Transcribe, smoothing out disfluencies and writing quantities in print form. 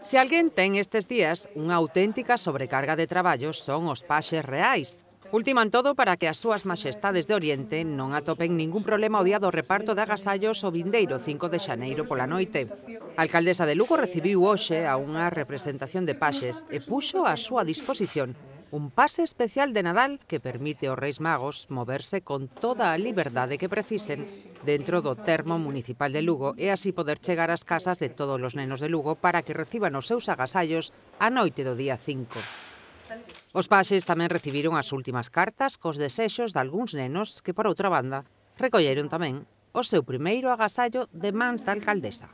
Se alguén ten estes días unha auténtica sobrecarga de traballo son os paxes reais. Ultiman todo para que as súas maxestades de Oriente non atopen ningún problema ao día do reparto de agasallos o vindeiro 5 de xaneiro pola noite. A alcaldesa de Lugo recibiu hoxe a unha representación de paxes e puxo á súa disposición un pase especial de Nadal que permite aos Reis Magos moverse con toda a liberdade que precisen dentro do termo municipal de Lugo e así poder chegar ás casas de todos os nenos de Lugo para que reciban os seus agasallos a noite do día 5. Os paxes tamén recibiron as últimas cartas cos desexos de algúns nenos que, por outra banda, recolleron tamén o seu primeiro agasallo de mans da alcaldesa.